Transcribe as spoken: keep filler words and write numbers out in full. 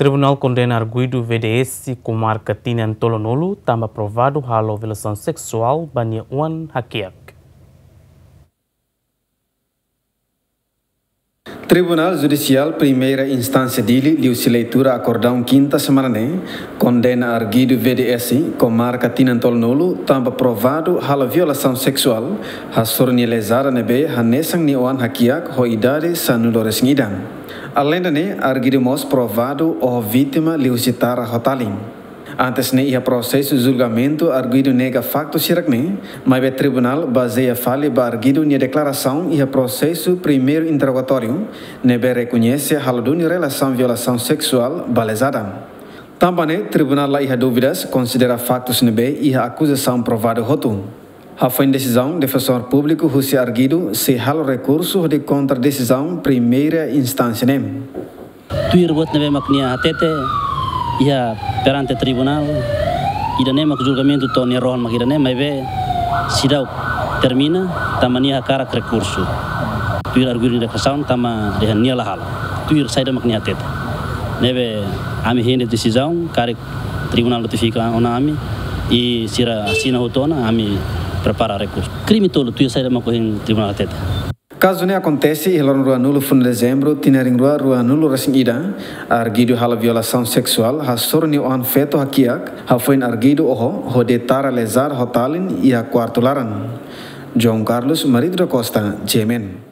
Tribunál kondena arguidu V D S komarka tinan tolunulu tanba provadu halo violasaun seksuál ba nia oan hakiak. Tribunál Judisiál Primeira Instánsia Dili liuhusi leitura akordaun kinta semana ne'e kondena arguidu V D S komarka tinan tolunulu tanba provadu halo violasaun seksuál hasoru nia lezada ne'ebé hanesan nia oan hakiak ho idade sanulu resin ida. Aleinde ne'e, arguidu mós provadu oho vítima liuhusi tara ho talin. Antes ne'e, iha prosesu julgamentu, arguidu nega faktu sira-ne'e, maibé tribunál bazeia fali ba arguidu nia deklarasaun iha prosesu primeiru interrogatóriu ne'ebé rekoñese halo duni relasaun violasaun seksuál ba lezada. Tanba ne'e, tribunál la iha dúvidas, konsidera faktus ne'ebé iha akuzasaun provadu hotu. Hafoin desizaun, defensór públiku husi arguidu sei halo rekursu hodi kontra desizaun primeira instánsia ne'e. Tuir buat ne'ebé mak nia hatete iha perante tribunál, ida-ne'e mak julgamentu to'o nia rohan mak ida-ne'e, maibé seidauk termina, tanba nia hakarak rekursu. Tuir arguidu nia deklarasaun tanba dehan nia la halo. Tuir saida mak nia hatete. Ne'ebé ami hein de'it desizaun, karik tribunál notifika ona ami, i sira asina hotu ona, ami prepara rekursu. Krime tolu, tuir saida mak ohin tribunál hatete. Kazu ne'e akontese iha loron ruanulu fulan dezembru, tinan rihun rua ruanulu resin ida, arguidu halo violasaun seksuál hasoru nia oan feto hakiak, hafoin arguidu oho, hodi tara lezada ho talin iha kuartu laran. João Carlos Marito da Costa, G M N.